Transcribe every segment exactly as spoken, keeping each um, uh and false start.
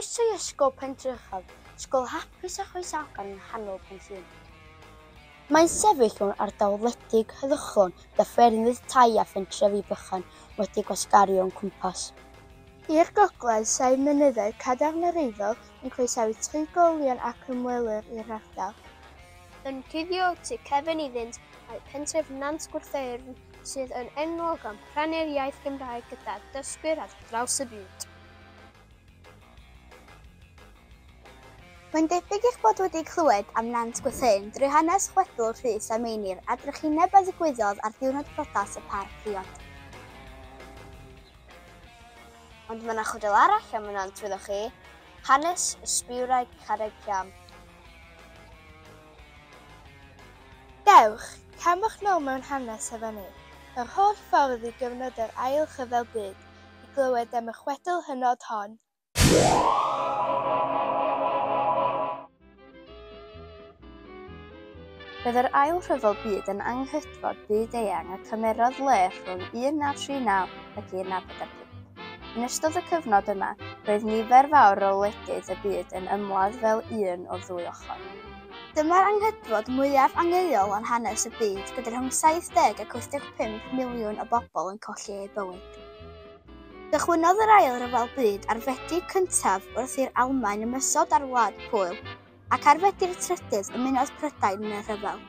Croeso i Ysgol Pentrechaf, ysgol hapus a chroesawgar yng nghanol Pen Llŷn. Mae'n sefyll mewn ardal wledig heddychlon gyda ffermydd, tai a phentrefi bychan wedi gwasgaru o'n cwmpas. I'r gogledd, saif mynyddoedd cadarn yr Eifl yn croesawu trigolion ac ymwelwyr i'r ardal. Yn cuddio tu cefn iddynt mae pentref Nant Gwrtheyrn sydd yn enwog am rhannu'r iaith Gymraeg gyda dysgwyr ar draws y byd. Mae'n debyg eich bod wedi clywed am Nant Gwrtheyrn drwy hanes chwedl Rhys a Meinir a drychineb a ddigwyddodd ar ddiwrnod priodas y pâr priod. Ond mae yna chwedl arall am y nant, wyddoch chi, hanes y sbïwraig Carreg Llam. Dewch, camwch nôl mewn hanes efo ni, yr holl ffordd i gyfnod yr Ail Rhyfel Byd, i glywed am y chwedl hynod hon. Roedd yr Ail Rhyfel Byd yn anghydfod byd-eang a cymerodd le rhwng un naw tri naw ac un naw pedwar pump. Yn ystod y cyfnod yma, roedd nifer fawr o wledydd y byd yn ymladd fel un o'r ddwy ochr. Dyma'r anghydfod mwyaf angheuol yn hanes y byd, gyda rhwng saith deg ac wyth deg pump miliwn o bobl yn colli eu bywyd. Cychwynnodd yr Ail Ryfel Byd ar Fedi cyntaf wrth i'r Almaen ymosod ar Wlad Pwyl, ac ar Fedi'r trydydd ymunodd Prydain yn y rhyfel.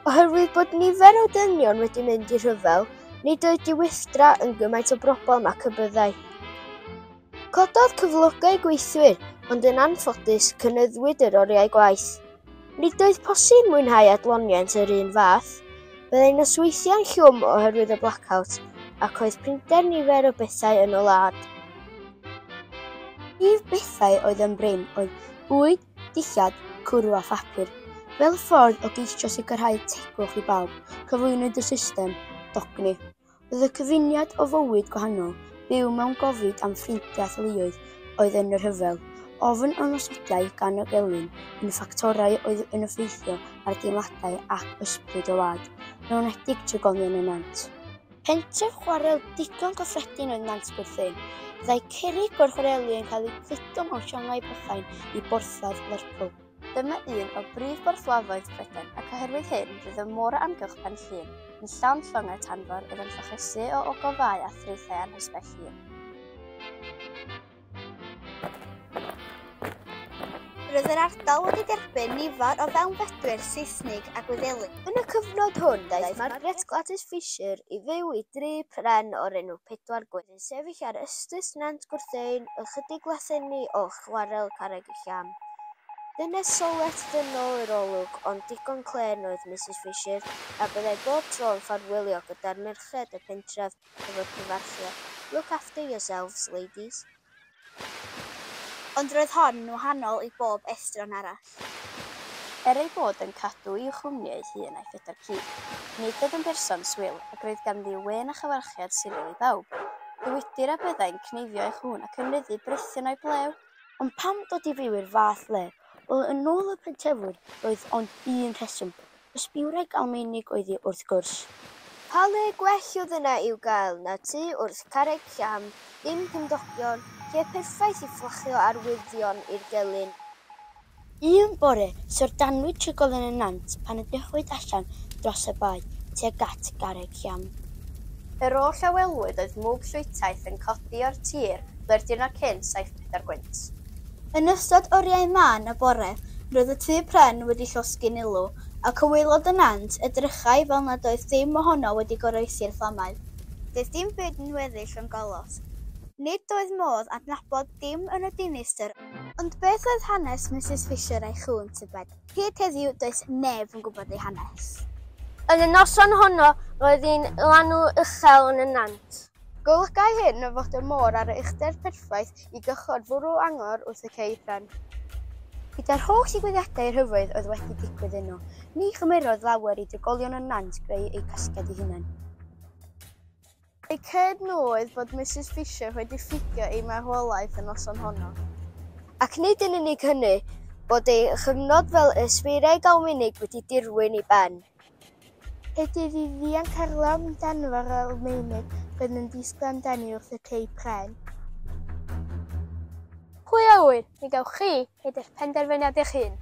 Oherwydd bod nifer o dynion wedi mynd i'r rhyfel, nid oedd diweithdra yn gymaint o broblem ac y byddai. Cododd cyflogau gweithwyr, ond yn anffodus cynyddwyd yr oriau gwaith. Nid oedd posib mwynhau adloniant yr un fath. Byddai nosweithiau'n llwm oherwydd y blackout, ac oedd prinder nifer o bethau yn y wlad. Prif bethau oedd yn brin oedd bwyd, dillad, cwrw a phapur. Fel ffordd o geisio sicrhau tegwch i bawb, cyflwynwyd y system dogni. Oedd y cyfuniad o fywyd gwahanol, byw mewn gofid am ffrindiau a theuluoedd oedd yn y rhyfel, ofn ymosodiadau gan y gelyn yn ffactorau oedd yn effeithio ar deimladau ac ysbryd y wlad, yn enwedig trigolion y nant. Pentref chwarel digon cyffredin oedd Nant Gwrtheyrn. Byddai cerrig o'r chwareli yn cael eu cludo mewn llongau bychain i borthladd Lerpwl. Dyma un o brif borthladdoedd Prydain, ac oherwydd hyn roedd y môr o amgylch Pen Llŷn yn llawn llongau tanfor oedd yn llochesu o ogofâu a thraethau anghysbell hir. Roedd yr ardal wedi derbyn nifer o fewnfudwyr Seisnig a Gwyddelig. Yn y cyfnod hwn, daeth Margaret Gladys Fisher i fyw i dri pren o'r enw Pedwar Gwyn, yn sefyll ar ystys Nant Gwrtheyrn, ychydig lathenni o chwarel Carreg y Llam. Dynes solet ddynol yr olwg, ond digon clên oedd Misus Fisher, a byddai bob tro yn ffarwelio gyda'r merched y pentref efo'r cyfarchiad, "Look after yourselves, ladies." Ond roedd hon yn wahanol i bob estron arall. Er ei bod yn cadw i'w chwmni ei hun a'i phedwar ci, nid oedd yn berson swil ac roedd ganddi wên a chyfarchiad siriol i bawb. Dywedir a byddai'n cneifio ei chŵn ac yn ryddu brithion o'i blew. Ond pam dod i fyw i'r fath le? Wel, yn ôl y pentrefwyr, roedd ond un rheswm. Ysbïwraig Almaenig oedd hi wrth gwrs. Pa le gwell oedd yna i'w gael na tŷ wrth Carreg Llam, dim cymdogion, lle perffaith i fflachio arwyddion i'r gelyn. Un bore, syfrdanwyd trigolion y nant pan edrychwyd allan dros y bae tuag at Garreg Llam. Yr oll a welwyd oedd mwg llwytaith yn codi o'r tir ble'r diwrnod cynt saith pedair gwynt. Yn ystod oriau mân y bore, roedd y tŷ pren wedi llosgi'n ulw, ac o waelod y nant edrychai fel nad oedd dim ohono wedi goroesi'r fflamau. Doedd dim byd yn weddill ond golosg. Nid oedd modd adnabod dim yn y dinistr, ond beth oedd hanes Misus Fisher a'i chŵn tybed? Hyd heddiw does neb yn gwybod ei hanes. Yn y noson honno, roedd hi'n lanw uchel yn y nant. Golygai hyn fod y môr ar y uchder perffaith i gychod fwrw angor wrth y cei pren. Gyda'r holl ddigwyddiadau rhyfedd oedd wedi digwydd yno, ni chymerodd lawer i drigolion y nant greu eu casgliad eu hunain. Eu cred nhw oedd bod Misus Fisher wedi ffugio ei marwolaeth y noson honno. Ac nid yn unig hynny, bod ei chyfnod fel ysbïwraig Almaenig wedi dirwyn i ben. Hyd iddi ddianc ar long danfor Almaenig roedd yn disgwyl amdani wrth y cei pren. Pwy Anghywir, mi gewch chi wneud eich penderfyniad eich hun.